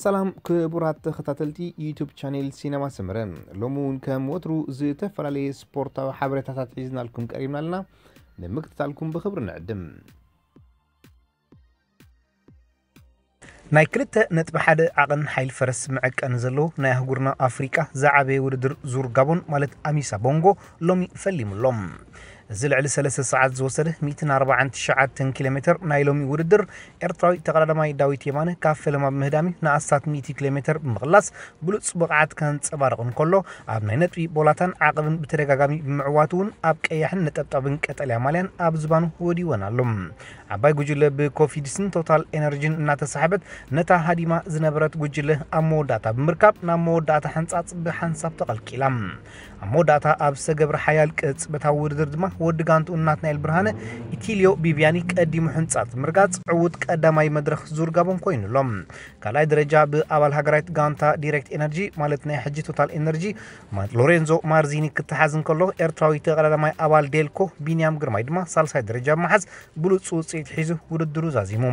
ሰላም ክቡራት ተኸታተልቲ ዩቱብ ቻኔል ሲነማ ሰመረ፣ ሎሚ እውን ከም ወትሩ ዝተፈላለየ ስፖርታዊ ሓበሬታታት ሒዝናልኩም ቀሪብና ኣለና። ንምክትታልኩም ብኽብሪ ንዕድም። ናይ ክልተ ነጥቢ ሓደ ዓቐን ሓይል ፈረስ መዐቀኒ ዘለዎ ናይ ኣህጉርና ኣፍሪቃ ዝዓበየ ውድድር ዙር ጋቦን ማለት ኣሚሳ ቦንጎ ሎሚ ፈሊሙ ኣሎ። እዚ ልዕሊ ሰለስተ ሰዓት ዝወሰደ ሚእትን ኣርባዓን ትሽዓተን ኪሎ ሜትር ናይ ሎሚ ውድድር ኤርትራዊ ተቐዳዳማይ ዳዊት የማነ ካብ ፈለማ ብምህዳም'ዩ ንኣስታት ሚእቲ ኪሎ ሜትር ብምቕላስ ብሉጽ ብቕዓት ከንጸባርቕ እንከሎ፣ ኣብ ናይ ነጥቢ ቦላታን ዓቐብን ብተደጋጋሚ ብምዕዋቱ እውን ኣብ ቀያሕን ነጠብጣብን ቀጠልያ ማልያን ኣብ ዝባኑ ወዲወን ኣሎ። ዓባይ ጉጅለ ብኮፊድስን ቶታል ኤነርጂን እናተሳሕበት ነታ ሃዲማ ዝነበረት ጉጅለ ኣብ መወዳእታ ብምርካብ ናብ መወዳእታ ሕንጻጽ ብሓንሳብ ተቐልቂላ። ኣብ መወዳእታ ኣብ ዝተገብረ ሓያል ቅጽበታዊ ውድድር ድማ ወዲ ጋንትኡ ናትናኤል ብርሃነ ኢቲልዮ ቢብያኒ ቀዲሙ ሕንጻጽ ምርጋጽ ዕዉት ቀዳማይ መድረኽ ዙር ጋቦን ኮይኑ ኣሎ። ካልኣይ ደረጃ ብኣባል ሃገራዊት ጋንታ ዲሬክት ኤነርጂ ማለት ናይ ሕጂ ቶታል ኤነርጂ ማ-፣ ሎሬንዞ ማርዚኒ ክተሓዝ እንከሎ፣ ኤርትራዊ ተቐዳዳማይ ኣባል ዴልኮ ቢንያም ግርማይ ድማ ሳልሳይ ደረጃ ብምሓዝ ብሉጽ ውጽኢት ሒዙ ውድድሩ ዛዚሙ።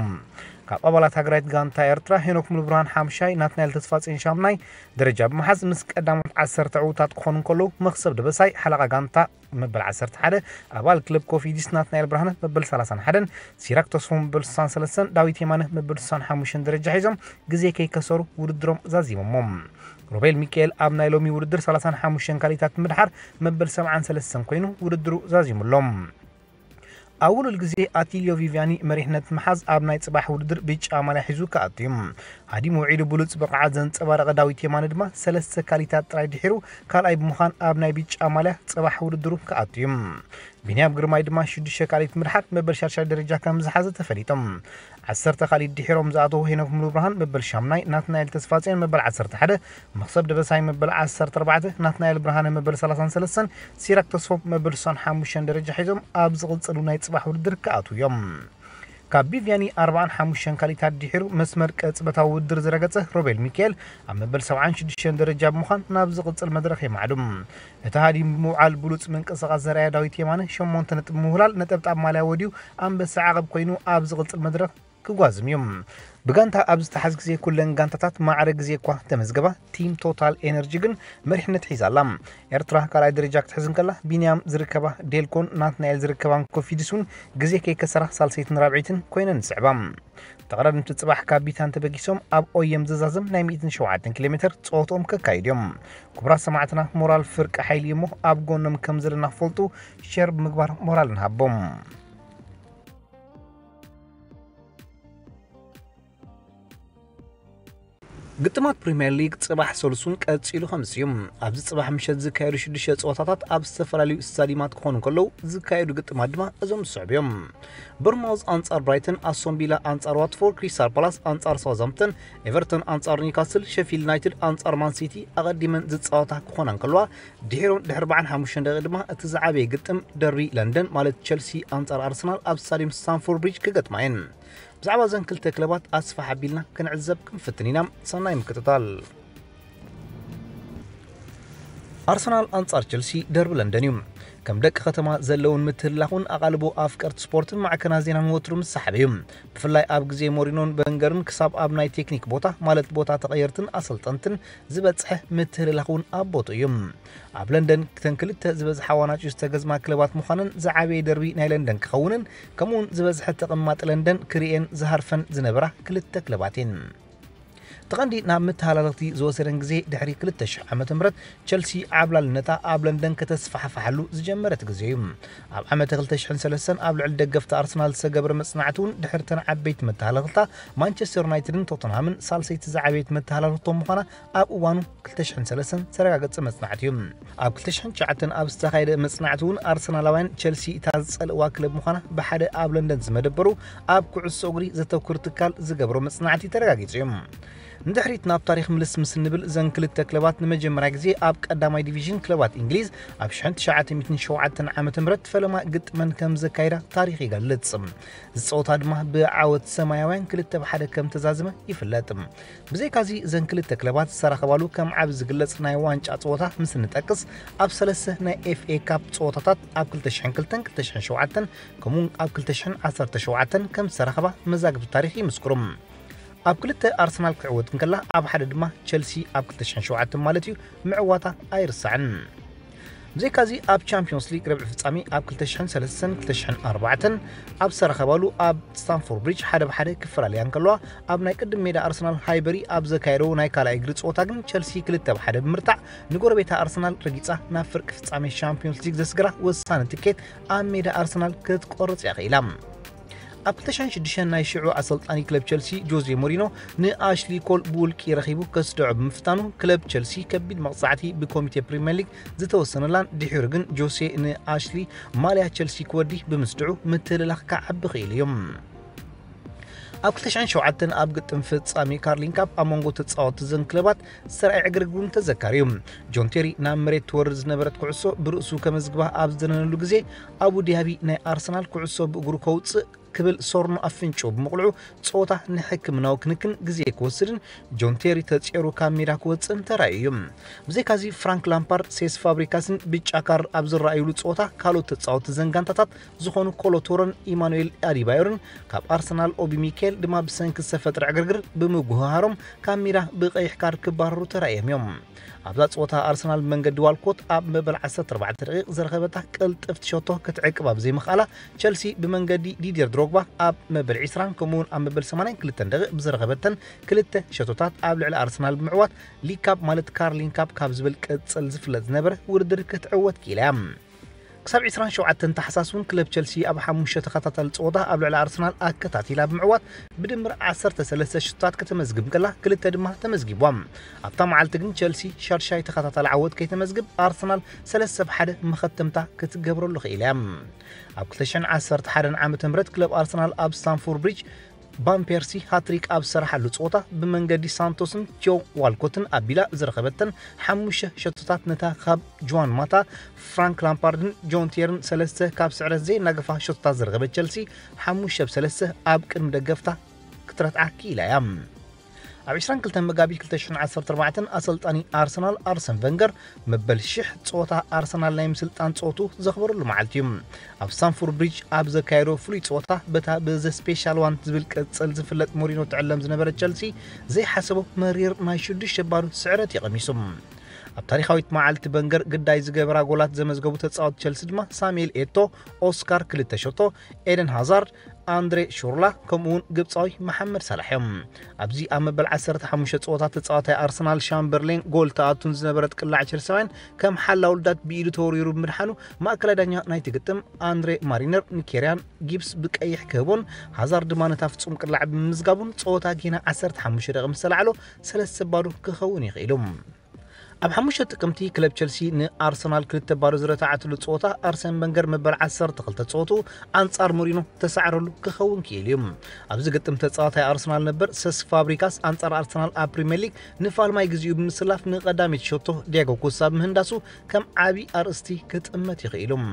ካብ ኣባላት ሃገራዊት ጋንታ ኤርትራ ሄኖክ ሙሉብርሃን ሓምሻይ፣ ናትናኤል ተስፋጽዮን ሻምናይ ደረጃ ብምሓዝ ምስ ቀዳሞት ዓሰርተ ዕዉታት ክኾኑ እንከለዉ፣ መኽሰብ ደበሳይ ሓለቓ ጋንታ መበል ዓሰርተ ሓደ፣ ኣባል ክለብ ኮፊዲስ ናትናኤል ብርሃነ መበል ሰላሳን ሓደን፣ ሲራክ ተስፎ መበል ስሳን ሰለስተን፣ ዳዊት የማነ መበል ስሳን ሓሙሽተን ደረጃ ሒዞም ግዜ ከይከሰሩ ውድድሮም ዛዚሞሞ። ሮቤል ሚካኤል ኣብ ናይ ሎሚ ውድድር ሰላሳን ሓሙሽተን ካሊታት ምድሓር መበል ሰብዓን ሰለስተን ኮይኑ ውድድሩ ዛዚሙ ኣሎ። ኣብ ውሉል ግዜ ኣቲልዮ ቪቪያኒ መሪሕነት ምሓዝ ኣብ ናይ ጽባሕ ውድድር ብጫ ማልያ ሒዙ ክኣቱ እዩ። ሃዲሙ ውዒሉ ብሉጽ ብቕዓት ዘንጸባረቐ ዳዊት የማነ ድማ ሰለስተ ካሊታት ጥራይ ድሒሩ ካልኣይ ብምዃን ኣብ ናይ ብጫ ማልያ ጽባሕ ውድድሩ ክኣቱ እዩ። ቢንያም ግርማይ ድማ ሽዱሽተ ካሊት ምድሓር መበል ሻድሻይ ደረጃ ከም ዝሓዘ ተፈሊጡ። ዓሰርተ ካሊት ድሒሮም ዝኣተዉ ሄኖክ ሙሉብርሃን መበል ሻምናይ፣ ናትናኤል ተስፋጽዮን መበል ዓሰርተ ሓደ፣ መኽሰብ ደበሳይ መበል ዓሰርተ ኣርባዕተ፣ ናትናኤል ብርሃነ መበል ሰላሳን ሰለስተን፣ ሲራክ ተስፎም መበል ስሳን ሓሙሽተን ደረጃ ሒዞም ኣብ ዝቕጽሉ ናይ ጽባሕ ውድድር ክኣትዉ እዮም። ካብ ቢቪያኒ ኣርባዓን ሓሙሽተን ካሊታት ድሒሩ መስመር ቅጽበታዊ ውድድር ዝረገጸ ሮቤል ሚካኤል ኣብ መበል ሰብዓን ሽዱሽተን ደረጃ ብምዃን ናብ ዝቕጽል መድረኽ የማዕዱ። እቲ ሃዲም ብምውዓል ብሉጽ ምንቅስቓስ ዘርኣየ ዳዊት የማነ ሸሞንተ ነጥቢ ምውህላል ነጠብጣብ ማልያ ወዲዩ ኣንበሳ ዓቐብ ኮይኑ ኣብ ዝቕጽል መድረኽ ክጓዝም እዩ። ብጋንታ ኣብ ዝተሓዝ ግዜ ኩለን ጋንታታት ማዕረ ግዜ እኳ ተመዝገባ፣ ቲም ቶታል ኤነርጂ ግን መሪሕነት ሒዛ ኣላ። ኤርትራ ካልኣይ ደረጃ ክትሕዝ እንከላ፣ ቢንያም ዝርከባ ዴልኮን ናትናኤል ዝርከባን ኮፊድስ እውን ግዜ ከይከሰራ ሳልሰይትን ራብዐይትን ኮይነን ዝስዕባ። ተቐዳደምቲ ጽባሕ ካብ ቢታን ተበጊሶም ኣብ ኦየም ዝዛዘም ናይ ሚእትን ሸውዓተን ኪሎ ሜትር ጸወትኦም ከካይዱ እዮም። ክቡራት ሰማዕትና፣ ሞራል ፍርቂ ሓይሊ እሞ ኣብ ጎኖም ከም ዘለና ክፈልጡ ሼር ብምግባር ሞራል ንሃቦም። ግጥማት ፕሪምየር ሊግ ጽባሕ ሰሉሱን ቀጺሉ ከምስ እዩ። ኣብዚ ጽባሕ ምሸት ዝካየዱ ሽዱሽተ ጸወታታት ኣብ ዝተፈላለዩ ስታዲማት ክኾኑ እንከለዉ፣ ዝካየዱ ግጥማት ድማ እዞም ዝስዕቡ እዮም። ቦርንማውዝ ኣንጻር ብራይተን፣ ኣስቶን ቪላ ኣንጻር ዋትፎርድ፣ ክሪስታል ፓላስ ኣንጻር ሳውዝሃምፕተን፣ ኤቨርተን ኣንጻር ኒውካስል፣ ሸፊልድ ዩናይትድ ኣንጻር ማን ሲቲ ኣቐዲመን ዝጻወታ ክኾና እንከለዋ፣ ድሒሮም ድሕሪ ኣርባዓን ሓሙሽተን ደቂቕ ድማ እቲ ዝዓበየ ግጥም ደርቢ ለንደን ማለት ቸልሲ ኣንጻር ኣርሰናል ኣብ ስታዲየም ስታንፎርድ ብሪጅ ክገጥማ እየን። ብዛዕባ እዘን ክልተ ክለባት ኣስፍሕ ኣቢልና ክንዕዘብ ክንፍትን ኢና። ሰናይ ምክትታል። ኣርሰናል ኣንጻር ቸልሲ ደርቢ ለንደን እዩ። ከም ደቂ ከተማ ዘለውን ምትህልላኹን ኣቓልቦ ኣፍቀርቲ ስፖርትን ማዕከናት ዜናን ወትሩ ምስ ሰሓበ እዩ። ብፍላይ ኣብ ግዜ ሞሪኖን በንገርን ክሳብ ኣብ ናይ ቴክኒክ ቦታ ማለት ቦታ ተቐየርትን ኣሰልጠንትን ዝበጽሐ ምትህልላኽ እውን ኣብ ቦትኡ እዩ። ኣብ ለንደን ክተን ክልተ ዝበዝሓ ዋናጭ ዝተገዝማ ክለባት ምዃነን ዝዓበየ ደርቢ ናይ ለንደን ክኸውንን ከምኡውን ዝበዝሐ ተቐማጢ ለንደን ክርእየን ዝሃርፈን ዝነበራ ክልተ ክለባት እየን። እቲ ቀንዲ ናብ መተሃላለኽቲ ዝወሰደን ግዜ ድሕሪ ክልተ ሽሕ ዓመተ ምህረት ቸልሲ ዓብላልነታ ኣብ ለንደን ከተስፋሕፍሓሉ ዝጀመረት ግዜ እዩ። ኣብ ዓመተ ክልተ ሽሕን ሰለስተን ኣብ ልዕሊ ደገፍቲ ኣርሰናል ዝተገብረ መጽናዕቲ እውን ድሕሪ ተን ዓበይቲ መተሃላለኽታ ማንቸስተር ዩናይትድን ቶተንሃምን ሳልሰይቲ ዝዓበየት መተሃላለኽቶም ምዃና ኣብ እዋኑ ክልተ ሽሕን ሰለስተን ዝተረጋገጸ መጽናዕቲ እዩ። ኣብ ክልተ ሽሕን ትሽዓተን ኣብ ዝተኻየደ መጽናዕቲ እውን ኣርሰናላውያን ቸልሲ እታ ዝጸልእዋ ክለብ ምዃና ብሓደ ኣብ ለንደን ዝመደበሩ ኣብ ኩዕሶ እግሪ ዘተኩር ትካል ዝገብሮ መጽናዕቲ ተረጋጊጹ እዩ። ንድሕሪት ናብ ታሪኽ ምልስ ምስ እንብል፣ እዘን ክልተ ክለባት ንመጀመርያ ግዜ ኣብ ቀዳማይ ዲቪዥን ክለባት እንግሊዝ ኣብ ሽሕን ትሽዓተ ሚእትን ሸውዓተን ዓመተ ምህረት ፈለማ ግጥመን ከም ዘካይዳ ታሪኽ ይገልጽ። እዚ ጸወታ ድማ ብዓወት ሰማያውያን ክልተ ብ ሓደ ከም ተዛዝመ ይፍለጥ። ብዘይካዚ፣ እዘን ክልተ ክለባት ዝተራኸባሉ ከም ዓቢ ዝግለጽ ናይ ዋንጫ ጸወታ ምስ እንጠቅስ፣ ኣብ ሰለስተ ናይ ኤፍ ኤ ካፕ ጸወታታት ኣብ ክልተ ሽሕን ክልተን ክልተ ሽሕን ሸውዓተን ከምኡውን ኣብ ክልተ ሽሕን ዓሰርተ ሸውዓተን ከም ዝተራኸባ መዛግብቲ ታሪኽ ይምስክሩ። ኣብ ክልተ ኣርሰናል ክትዕወት እንከላ ኣብ ሓደ ድማ ቸልሲ ኣብ ክልተ ሽሕን ሸውዓተን ማለት እዩ ምዕዋታ ኣይርሳዕን። ብዘይካዚ ኣብ ቻምፒዮንስ ሊግ ረብዒ ፍጻሜ ኣብ ክልተ ሽሕን ሰለስተን ክልተ ሽሕን ኣርባዕተን ኣብ ዝተራኸባሉ ኣብ ስታንፎርድ ብሪጅ ሓደ ብሓደ ክፈላለያ እንከለዋ ኣብ ናይ ቅድም ሜዳ ኣርሰናል ሃይበሪ ኣብ ዘካየደው ናይ ካልኣይ እግሪ ጸወታ ግን ቸልሲ ክልተ ብሓደ ብምርታዕ ንጎረቤታ ኣርሰናል ረጊጻ ናብ ፍርቂ ፍጻሜ ቻምፒዮንስ ሊግ ዘስግራ ወሳኒ ትኬት ኣብ ሜዳ ኣርሰናል ክትቆርጽ እያ ክኢላ። ኣብ ክልተ ሽሕን ሽዱሽተን ናይ ሽዑ ኣሰልጣኒ ክለብ ቸልሲ ጆዜ ሞሪኖ ንኣሽሊ ኮል ብውልቂ ረኺቡ ከስድዖ ብምፍታኑ ክለብ ቸልሲ ከቢድ መቕጻዕቲ ብኮሚቴ ፕሪምየር ሊግ ዝተወሰነላን ድሒሩ ግን ጆሴ ንኣሽሊ ማልያ ቸልሲ ክወዲ ብምስድዑ ምትልላኽ ክዓቢ ክኢሉ እዩ። ኣብ ክልተ ሽሕን ሸውዓተን ኣብ ግጥም ፍጻሜ ካርሊን ካፕ ኣብ መንጎ ተጻወትቲ ዘን ክለባት ዝተረኣየ ዕግርግር እውን ተዘካሪ እዩ። ጆን ቴሪ ናብ መሬት ትወርድ ዝነበረት ኩዕሶ ብርእሱ ከመዝግባ ኣብ ዝደነነሉ ግዜ ኣቡ ዲያቢ ናይ ኣርሰናል ኩዕሶ ብእግሩ ከውጽእ ክብል ሶርኖ ኣፍንጭኡ ብምቕልዑ ጸወታ ንሕክምናዊ ክንክን ግዜ ክወስድን ጆን ቴሪ ተጽየሩ ካብ ሜዳ ክወጽእን ተራእዩ እዩ። ብዘይካዚ ፍራንክ ላምፓርድ፣ ሴስ ፋብሪካስን ብጫ ካርድ ኣብ ዝረኣዩሉ ጸወታ ካልኦት ተጻወትቲ ዘን ጋንታታት ዝኾኑ ኮሎቶሮን ኢማኑኤል ኣዲባዮርን ካብ ኣርሰናል ኦቢ ሚካኤል ድማ ብሰንኪ ዝተፈጥረ ዕግርግር ብምጉህሃሮም ካብ ሜዳ ብቐይሕ ካርድ ክባረሩ ተራእዮም እዮም። ኣብዛ ጸወታ ኣርሰናል ብመንገዲ ዋልኮት ኣብ መበል ዓሰርተ ኣርባዕተ ደቂቕ ዝረኸበታ ቅልጥፍቲ ሸቶ ክትዕቅባ ብዘይምኽኣላ ቸልሲ ብመንገዲ ዲድየር ድሮግባ ኣብ መበል ዕስራን ከምኡውን ኣብ መበል ሰማንያን ክልተን ደቂቕ ብዝረኸበተን ክልተ ሸቶታት ኣብ ልዕሊ ኣርሰናል ብምዕዋት ሊግ ካፕ ማለት ካርሊን ካፕ ካብ ዝብል ቅጽል ዝፍለጥ ዝነበረ ውድድር ክትዕወት ክኢላ እያ። ክሳብ ዕስራን ሸውዓተን ታሕሳስ እውን ክለብ ቸልሲ ኣብ ሓሙሽተ ተኸታታሊ ጸወታ ኣብ ልዕሊ ኣርሰናል ኣከታቲላ ብምዕዋት ብድምር ዓሰርተ ሰለስተ ሽቶታት ከተመዝግብ ከላ ክልተ ድማ ተመዝጊቧ። ኣብታ መዓልቲ ግን ቸልሲ ሻድሻይ ተኸታታሊ ዓወት ከይተመዝግብ ኣርሰናል ሰለስተ ብሓደ መኸተምታ ክትገብረሉ ክኢላ እያ። ኣብ ክልተ ሽሕን ዓሰርተ ሓደን ዓመተ ምህረት ክለብ ኣርሰናል ኣብ ስታንፎርድ ብሪጅ ቫን ፐርሲ ሃትሪክ ኣብ ዝሰራሓሉ ጸወታ ብመንገዲ ሳንቶስን ጆ ዋልኮትን ኣቢላ ዝረኸበተን ሓሙሽተ ሸቶታት ነታ ካብ ጆዋን ማታ፣ ፍራንክ ላምፓርድን ጆን ቴርን ሰለስተ ካብ ስዕረት ዘይናገፋ ሸቶታት ዝረኸበት ቸልሲ ሓሙሽተ ብ ሰለስተ ኣብ ቅድሚ ደገፍታ ክትረትዓ ክኢላ እያ። ኣብ ዕስራን ክልተን መጋቢት ክልተ ሽሕን ዓሰርተ ኣርባዕተን ኣሰልጣኒ ኣርሰናል ኣርሰን ቨንገር መበል ሽሕ ጸወታ ኣርሰናል ናይ ምስልጣን ጸወቱ ዘኽበረሉ መዓልቲ እዩ። ኣብ ስታንፎርድ ብሪጅ ኣብ ዘካየዶ ፍሉይ ጸወታ በታ ብዘ ስፔሻል ዋን ዝብል ቅጽል ዝፍለጥ ሞሪኖ ትዕለም ዝነበረ ቸልሲ ዘይሓሰቦ መሪር ናይ ሽዱሽተ ባዶ ስዕረት እዩ ቀሚሱ። ኣብ ታሪኻዊት መዓልቲ ቨንገር ግዳይ ዝገበራ ጎላት ዘመዝገቡ ተጻወቲ ቸልሲ ድማ ሳሙኤል ኤቶ፣ ኦስካር ክልተ ሸቶ፣ ኤደን ሃዛርድ፣ ኣንድሬ ሹርላ ከምኡውን ግብጻዊ መሓመድ ሳላሕ እዮም። ኣብዚ ኣብ መበል ዓሰርተ ሓሙሽተ ጸወታ ተጻዋታይ ኣርሰናል ሻምበርሌን ጎል ተኣቱን ዝነበረት ቅላዕ ቸልሳውያን ከም ሓላ ውልዳት ብኢዱ ተወሪሩ ብምድሓኑ ማእከላይ ዳኛ ናይቲ ግጥም ኣንድሬ ማሪነር ንኬርያን ጊብስ ብቀይሕ ክህቦን ሃዛርድ ድማ ነታ ፍጹም ቅላዕ ብምምዝጋቡን ጸወታ ጌና ዓሰርተ ሓሙሽተ ደቂቕ ምስ ተላዕሎ ሰለስተ ባዶ ክኸውን ይኽእል እዩ። ኣብ ሓሙሽተ ጥቅምቲ ክለብ ቸልሲ ንኣርሰናል ክልተ ባዶ ዝረታዓትሉ ጸወታ ኣርሰን ቨንገር መበል ዓሰርተ ክልተ ጸወቱ ኣንጻር ሞሪኖ ተሳዕረሉ ክኸውን ክኢሉ እዩ። ኣብዚ ግጥም ተጻዋታይ ኣርሰናል ነበር ሰስ ፋብሪካስ ኣንጻር ኣርሰናል ኣብ ፕሪምየር ሊግ ንፋልማይ ግዜኡ ብምስላፍ ንቐዳመይቲ ሸቶ ዲያጎ ኮስታ ብምህንዳሱ ከም ዓቢ ኣርእስቲ ክጥመት ይኽእል እዩ።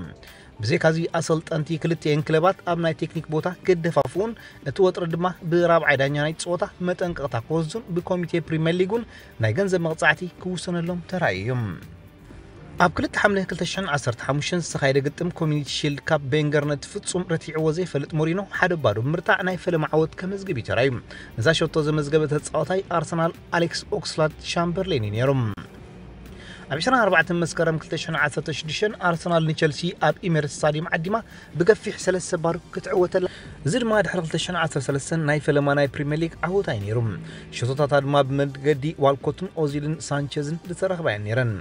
ብዘይካዚ ኣሰልጠንቲ ክልቲኤን ክለባት ኣብ ናይ ቴክኒክ ቦታ ክደፋፍኡን እቲ ወጥሪ ድማ ብራብዓይ ዳኛ ናይ ጸወታ መጠንቀቕታ ክወስዱን ብኮሚቴ ፕሪምየር ሊግ እውን ናይ ገንዘብ መቕጻዕቲ ክውሰነሎም ተራእዩ እዩ። ኣብ ክልተ ሓምለ ክልተ ሽሕን ዓሰርተ ሓሙሽተን ዝተኻየደ ግጥም ኮሚኒቲ ሺልድ ካፕ ቬንገር ነቲ ፍጹም ረቲዕዎ ዘይፈልጥ ሞሪኖ ሓደ ባዶ ብምርታዕ ናይ ፈለማ ዓወት ከመዝግብ እዩ ተራእዩ። ነዛ ሸቶ ዘመዝገበ ተጻዋታይ ኣርሰናል ኣሌክስ ኦክስላድ ሻምበርሌን እዩ ነይሩ። ኣብ ዕስራን ኣርባዕተን መስከረም ክልተ ሽሕን ዓሰርተ ሽዱሽተን ኣርሰናል ንቸልሲ ኣብ ኢሜሬትስ ስታዲየም ዓዲማ ብገፊሕ ሰለስተ ባዶ ክትዕወተላ። እዚ ድማ ድሕሪ ክልተ ሽሕን ዓሰርተ ሰለስተን ናይ ፈለማ ናይ ፕሪምየር ሊግ ዓወታ እዩ ነይሩ። ሸቶታታ ድማ ብመንገዲ ዋልኮትን ኦዚልን ሳንቸዝን ዝተረኽባ እየን ነይረን።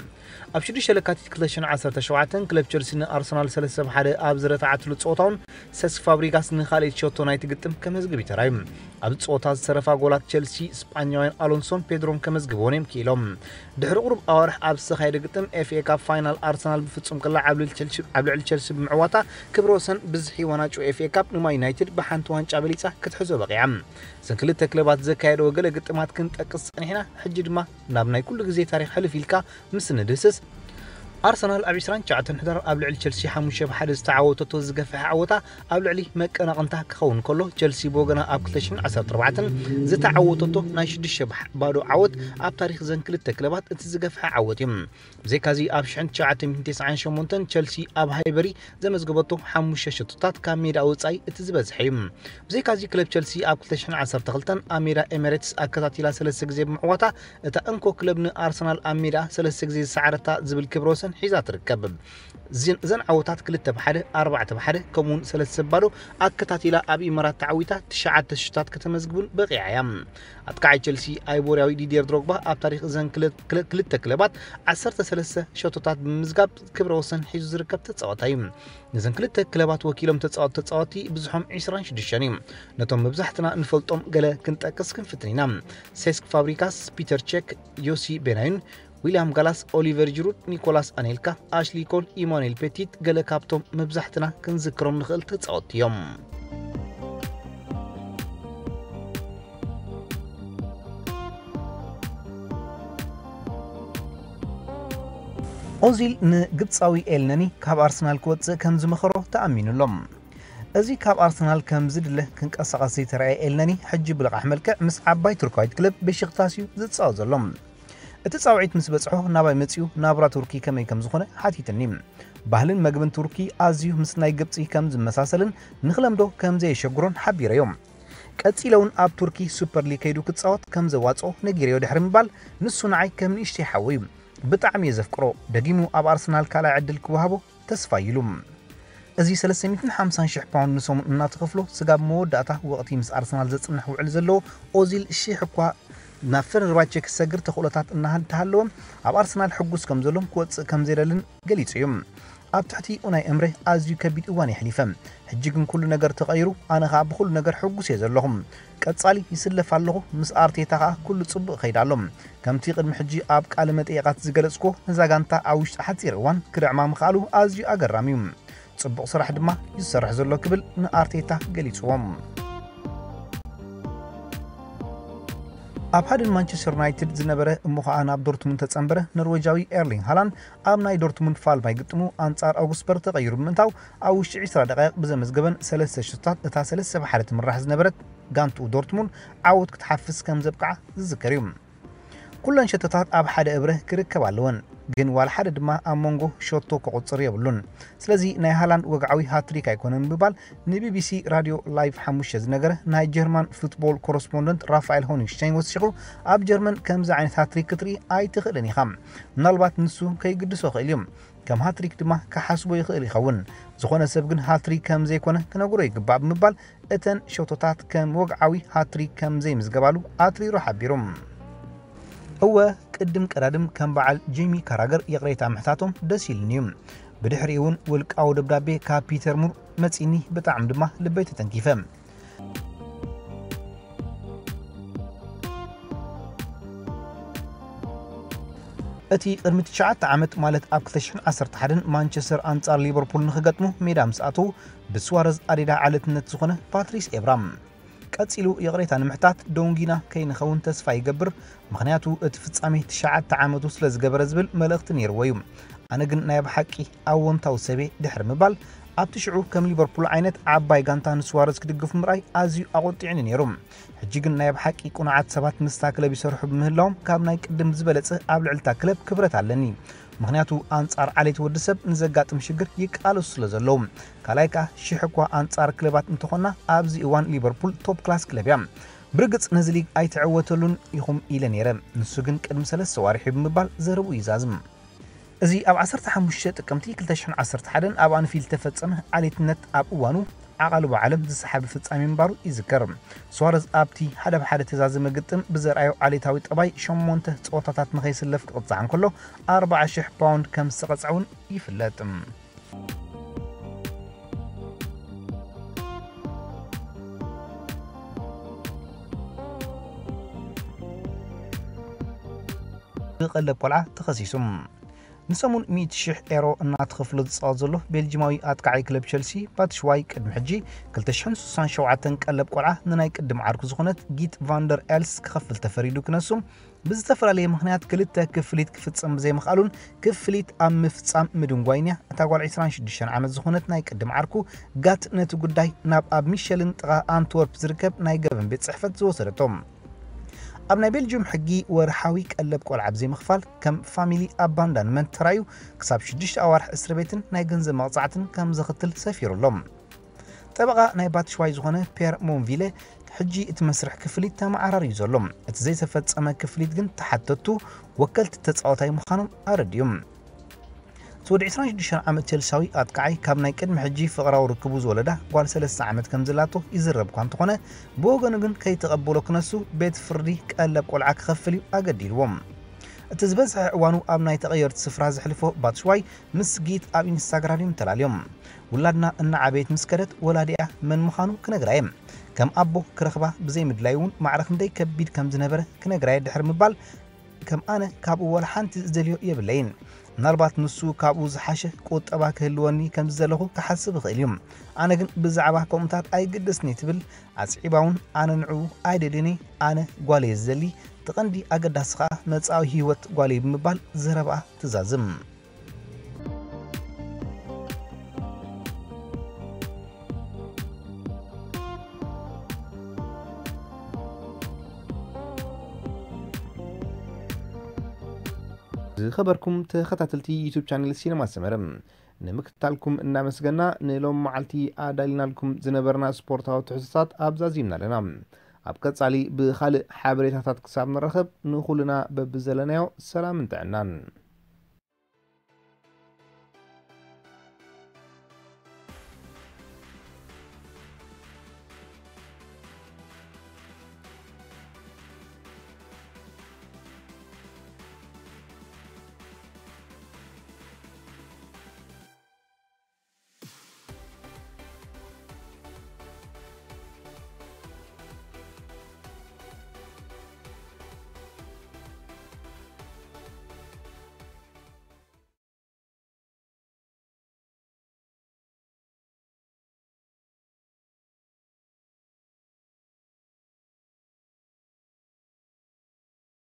ኣብ ሽዱሽተ ለካቲት ክልተ ሽሕን ዓሰርተ ሸውዓተን ክለብ ቸልሲ ንኣርሰናል ሰለስተ ብ ሓደ ኣብ ዝረታዓትሉ ጸወታውን ሰስ ፋብሪጋስ ንኻልኣይቲ ሸቶ ናይቲ ግጥም ከመዝግብ እዩ ተራእዩ። ኣብዚ ጸወታ ዝተረፋ ጎላት ቸልሲ ስጳኛውያን ኣሎንሶን ፔድሮን ከመዝግብዎን እዮም ክኢሎም። ድሕሪ ቁሩብ ኣዋርሕ ኣብ ዝተኻየደ ግጥም ኤፍ ኤ ካፕ ፋይናል ኣርሰናል ብፍጹም ቅላዕ ኣብ ልዕሊ ቸልሲ- ኣብ ልዕሊ ቸልሲ ብምዕዋታ ክብረ ወሰን ብዝሒ ዋንጫ ኤፍ ኤ ካፕ ንማን ዩናይትድ ብሓንቲ ዋንጫ በሊጻ ክትሕዞ በቒዓ። እዘን ክልተ ክለባት ዘካየደዎ ገለ ግጥማት ክንጠቅስ ጸኒሕና፣ ሕጂ ድማ ናብ ናይ ኩሉ ግዜ ታሪኽ ሕልፍ ኢልካ ምስ ንድህስስ ኣርሰናል ኣብ ዕስራን ትሽዓተን ሕዳር ኣብ ልዕሊ ቸልሲ ሓሙሽተ ብ ሓደ ዝተዓወተቶ ዝገፍሐ ዓወታ ኣብ ልዕሊ መቀናቕንታ ክኸውን ከሎ፣ ቸልሲ ብወገና ኣብ ክልተ ሽሕን ዓሰርተ ኣርባዕተን ዝተዓወተቶ ናይ ሽዱሽተ ብ ባዶ ዓወት ኣብ ታሪኽ ዘን ክልተ ክለባት እቲ ዝገፍሐ ዓወት እዩ። ብዘይካዚ ኣብ ሽሕን ትሽዓተ ሚእትን ተስዓን ሸሞንተን ቸልሲ ኣብ ሃይበሪ ዘመዝገበቶ ሓሙሽተ ሸቶታት ካብ ሜዳ ወጻኢ እቲ ዝበዝሐ እዩ። ብዘይካዚ ክለብ ቸልሲ ኣብ ክልተ ሽሕን ዓሰርተ ክልተን ኣብ ሜዳ ኤሚሬትስ ኣከታቲላ ሰለስተ ግዜ ብምዕዋታ እታ እንኮ ክለብ ንኣርሰናል ኣብ ሜዳ ሰለስተ ግዜ ዝሰዓረታ ዝብል ክብረ ወሰን ሒዛ ትርከብ። እዘን ዓወታት ክልተ ብ ሓደ፣ ኣርባዕተ ብ ሓደ ከምኡውን ሰለስተ ብ ባዶ ኣከታቲላ ኣብ ኢማራት ተዓዊታ ትሽዓተ ሽቶታት ከተመዝግብ እውን በቒዓ እያ። ኣጥቃዓይ ቸልሲ ኣይቮርያዊ ዲድየር ድሮግባ ኣብ ታሪኽ እዘን ክልተ ክለባት ዓሰርተ ሰለስተ ሸቶታት ብምምዝጋብ ክብረ ወሰን ሒዙ ዝርከብ ተጻዋታይ እዩ። ነዘን ክልተ ክለባት ወኪሎም ተጻወቱ ተጻወቲ ብዝሖም ዕስራን ሽዱሽተን እዩ። ነቶም መብዛሕትና ንፈልጦም ገለ ክንጠቅስ ክንፍትን ኢና። ሴስክ ፋብሪካስ፣ ፒተር ቼክ፣ ዮሲ ቤናዩን፣ ዊልያም ጋላስ፣ ኦሊቨር ጅሩድ፣ ኒኮላስ ኣኔልካ፣ ኣሽሊ ኮል፣ ኢማኑኤል ፔቲት ገለ ካብቶም መብዛሕትና ክንዝክሮም ንኽእል ተጻወቲ እዮም። ኦዚል ንግብጻዊ ኤልነኒ ካብ ኣርሰናል ክወጽእ ከም ዝመኸሮ ተኣሚኑሎም። እዚ ካብ ኣርሰናል ከም ዝድለ ክንቀሳቐስ ዘይተረኣየ ኤልነኒ፣ ሕጂ ብልቓሕ መልክዕ ምስ ዓባይ ቱርካዊት ክለብ ቤሽክታስ እዩ ዝጻወት ዘሎ። እቲ ጻውዒት ምስ በጽሖ ናባይ መጺኡ ናብራ ቱርኪ ከመይ ከም ዝኾነ ሓቲትኒ። ባህልን መግብን ቱርኪ ኣዝዩ ምስ ናይ ግብጺ ከም ዝመሳሰልን ንኽለምዶ ከም ዘየሸግሮን ሓቢረዮ። ቀጺለ እውን ኣብ ቱርኪ ሱፐር ሊግ ከይዱ ክጻወት ከም ዘዋጽኦ ነጊረዮ ድሕሪ ምባል፣ ንሱ ንዓይ ከም ንእሽተይ ሓወይ እዩ። ብጣዕሚ እየ ዘፍቅሮ። ደጊሙ ኣብ ኣርሰናል ካልኣይ ዕድል ክወሃቦ ተስፋ ኢሉ። እዚ ሰለስተ ሚእትን ሓምሳን ሽሕ ፓውንድ ንሰሙን እናተኸፍሎ፣ ስጋብ መወዳእታ ወቕቲ ምስ ኣርሰናል ዘጽንሕ ውዕል ዘለዎ ኦዚል፣ ሽሕ እኳ ናብ ፈነርባቼ ክሰግር ተኽእሎታት እናሃ-፣ እንተሃለወ፣ ኣብ ኣርሰናል ሕጉስ ከም ዘሎን ክወጽእ ከም ዘይደልን ገሊጹ እዩ። ኣብ ትሕቲ ኡናይ እምረ ኣዝዩ ከቢድ እዋን የሕሊፈ። ሕጂ ግን ኩሉ ነገር ተቐይሩ፣ ኣነ ኸኣ ብኹሉ ነገር ሕጉስ እየ ዘለኹ። ቀጻሊ ይስለፍ ኣለኹ፣ ምስ ኣርቴታ ኸኣ ኩሉ ጽቡቕ ይኸይድ ኣሎ። ከምቲ ቅድሚ ሕጂ ኣብ ቃለ መጠይቓት ዝገለጽኩዎ፣ ነዛ ጋንታ ኣብ ውሽጢ ሓጺር እዋን ክድዕማ ምኽኣሉ ኣዝዩ ኣገራሚ እዩ። ጽቡቕ ስራሕ ድማ እዩ ዝሰርሕ ዘሎ ክብል ንኣርቴታ ገሊጽዎ። ኣብ ሃድን ማንቸስተር ዩናይትድ ዝነበረ እሞ ኸኣ ናብ ዶርትሙንድ ተጸንበረ ኖርዌጃዊ ኤርሊንግ ሃላንድ ኣብ ናይ ዶርትሙንድ ፋልማይ ግጥሙ ኣንጻር ኣውግስበርግ ተቐይሩ ብምእንታው ኣብ ውሽጢ ዕስራ ደቃይቕ ብዘመዝገበን ሰለስተ ሽቶታት እታ ሰለስተ ብ ሓደ ትምራሕ ዝነበረት ጋንትኡ ዶርትሙንድ ዓወት ክትሓፍስ ከም ዘብቅዓ ዝዝከር እዩ። ኩለን ሸቶታት ኣብ ሓደ እብረ ክርከባ ኣለወን፣ ግን ዋላ ሓደ ድማ ኣብ መንጎ ሸቶ ክቑጽር የብሉን። ስለዚ ናይ ሃላንድ ወግዓዊ ሃትሪክ ኣይኮነን ብምባል ንቢቢሲ ራድዮ ላይቭ ሓሙሽተ ዝነገረ ናይ ጀርማን ፉትቦል ኮረስፖንደንት ራፋኤል ሆኒሽታይን ወሲኹ፣ ኣብ ጀርመን ከምዚ ዓይነት ሃትሪክ ክትርኢ ኣይትኽእልን ኢኻ። ምናልባት ንሱ ከይግድሶ ይኽእል እዩ። ከም ሃትሪክ ድማ ክሓስቦ ይኽእል ይኸውን። ዝኾነ ሰብ ግን ሃትሪክ ከም ዘይኮነ ክነግሮ ይግባእ ብምባል እተን ሸቶታት ከም ወግዓዊ ሃትሪክ ከም ዘይምዝገባሉ ኣትሪሩ ሓቢሩ። እወ፣ ቅድም ቀዳድም ከም በዓል ጄሚ ካራገር ይቕሬታ ምሕታቶም ደስ ኢሉኒ እዩ። ብድሕሪኡ እውን ውልቃዊ ደብዳቤ ካብ ፒተር ሙር መጺኒ፣ ብጣዕሚ ድማ ልበይ ተተንኪፈ። እቲ ቅድሚ ትሽዓተ ዓመት፣ ማለት ኣብ ክልተ ሽሕን ዓሰርተ ሓደን ማንቸስተር ኣንጻር ሊቨርፑል ንኽገጥሙ ሜዳ ምስ ኣተዉ፣ ብስዋረዝ ኣዴዳ ዓሌትነት ዝኾነ ፓትሪስ ኤብራ ቀጺሉ ይቕሬታ ንምሕታት ደንጉይና ከይንኸውን ተስፋ ይገብር፣ ምኽንያቱ እቲ ፍጻሜ ትሽዓተ ዓመቱ ስለ ዝገበረ ዝብል መልእኽቲ ነይርዎ እዩ። ኣነ ግን ናይ ብሓቂ ኣወንታዊ ሰብ እየ ድሕሪ ምባል፣ ኣብቲ ሽዑ ከም ሊቨርፑል ዓይነት ዓባይ ጋንታ ንስዋረዝ ክድግፉ ምርኣይ ኣዝዩ ኣቖጢዑኒ ነይሩ። ሕጂ ግን ናይ ብሓቂ ቅኑዓት ሰባት ምስታ ክለብ ይሰርሑ ብምህላዎም ካብ ናይ ቅድም ዝበለጸ ኣብ ልዕሊ እታ ክለብ ክብረት ኣለኒ። ምኽንያቱ ኣንጻር ዓሌት ወዲ ሰብ ንዘጋጥም ሽግር ይቃለሱ ስለ ዘለዉ። ካልኣይ ከኣ ሽሕ እኳ ኣንጻር ክለባት እንተኾና ኣብዚ እዋን ሊቨርፑል ቶፕ ክላስ ክለብ እያ። ብርግጽ ነዚ ሊግ ኣይትዕወተሉን ኢኹም ኢለ ነይረ። ንሱ ግን ቅድሚ ሰለስተ ዋርሒ ብምባል ዘረብኡ ይዛዝም። እዚ ኣብ ዓሰርተ ሓሙሽተ ጥቅምቲ ክልተ ሽሕን ዓሰርተ ሓደን ኣብ ኣንፊልድ ዝተፈጸመ ዓሌትነት ኣብ እዋኑ ዓቓልቦ ዓለም ዝሰሓበ ፍጻሜ ምንባሩ ይዝከር። ሱዋረዝ ኣብቲ ሓደ ብ ሓደ ተዛዘመ ግጥም ብዘርኣዮ ዓሌታዊ ጠባይ ሸሞንተ ጸወታታት ንኸይስለፍ ክቕጻዕ እንከሎ ኣርብዓ ሽሕ ፓውንድ ከም ዝተቐጽዐ እውን ይፍለጥ። ብቐለብ ቆልዓ ተኸሲሱ። ንሰሙን ሚእቲ ሽሕ ኤሮ እናተኸፍሎ ዝፃወት ዘሎ ቤልጂማዊ ኣጥቃዓይ ክለብ ቸልሲ ባትሽዋይ ቅድሚ ሕጂ ክልተ ሽሕን ስሳን ሸውዓተን ቀለብ ቆልዓ ንናይ ቅድም ዓርኩ ዝኾነት ጊት ቫንደር ኤልስ ክኸፍል ተፈሪዱ ክነሱ ብዝተፈላለየ ምኽንያት ክልተ ክፍሊት ክፍፀም ብዘይምኽኣሉን ክፍሊት ኣብ ምፍፃም ምድንጓይን እያ። እታ ጓል ዕስራን ሽዱሽተን ዓመት ዝኾነት ናይ ቅድም ዓርኩ ጋት ነቲ ጉዳይ ናብ ኣብ ሚሸልን ጥቓ ኣንትወርፕ ዝርከብ ናይ ገበን ቤት ፅሕፈት ዝወሰደቶ። ኣብ ናይ ቤልጅዩም ሕጊ ወርሓዊ ቀለብ ቆልዓ ብዘይምኽፋል ከም ፋሚሊ ኣባንዳንመንት ተራዩ ክሳብ ሽዱሽተ ኣዋርሕ እስር ቤትን ናይ ገንዘብ መቕፃዕትን ከም ዘኽትል ሰፊሩ ኣሎ። ጠበቓ ናይ ባትሽዋይ ዝኾነ ፔር ሞንቪለ ሕጂ እቲ መስርሕ ክፍሊት ተመዓራርዩ ዘሎ፣ እቲ ዘይተፈጸመ ክፍሊት ግን ተሓተቱ ወከልቲ ተጻወታይ ምዃኖም ኣረድዮም። እቲ ወዲ ዕስራን ሽዱሽተን ዓመት ቸልሳዊ ኣጥቃዓይ ካብ ናይ ቅድሚ ሕጂ ፍቕራዊ ርክቡ ዝወለዳ ጓል ሰለስተ ዓመት ከም ዘላቶ ይዝረብ እኳ እንተኾነ፣ ብወገኑ ግን ከይተቐበሎ ክነሱ ቤት ፍርዲ ቀለብ ቆልዓ ክኸፍል እዩ ኣገዲድዎም። እቲ ዝበዝሐ እዋኑ ኣብ ናይ ተቐየርቲ ስፍራ ዘሕልፎ ባትሽዋይ ምስ ጊት ኣብ ኢንስታግራም እዮም ተላልዮም። ውላድና እናዓበየት ምስ ከደት ወላዲኣ መን ምዃኑ ክነግራ እየ። ከም ኣቦ ክረኽባ ብዘይምድላይ እውን ማዕረ ክንደይ ከቢድ ከም ዝነበረ ክነግራ እየ ድሕሪ ምባል ከም ኣነ ካብኡ ወላ ሓንቲ ዝደልዮ የብለይን። ምናልባት ንሱ ካብኡ ዝሓሸ ቁጠባ ክህልወኒ ከም ዝደለኹ ክሓስብ ይኽእል እዩ። ኣነ ግን ብዛዕባ ከምኡታት ኣይግደስኒ ትብል ኣስዒባ እውን ኣነ ንዕኡ ኣይደልዮን እየ። ኣነ ጓል እየ ዝደሊ። እቲ ቀንዲ ኣገዳሲ ከኣ መጻኢ ህይወት ጓል እዩ ብምባል ዘረባኣ ትዛዝም። ዝኸበርኩም ተኸታተልቲ ዩቱብ ቻነል ሲነማ ሰመረ ንምክትታልኩም እናመስገና ንሎም መዓልቲ ኣዳሊናልኩም ዝነበርና ስፖርታዊ ትሕዝቶታት ኣብዛዚምና ኣለና። ኣብ ቀጻሊ ብኻልእ ሓበሬታታት ክሳብ ንረኸብ ንኹልና በብዘለናዮ ሰላምን ጥዕናን።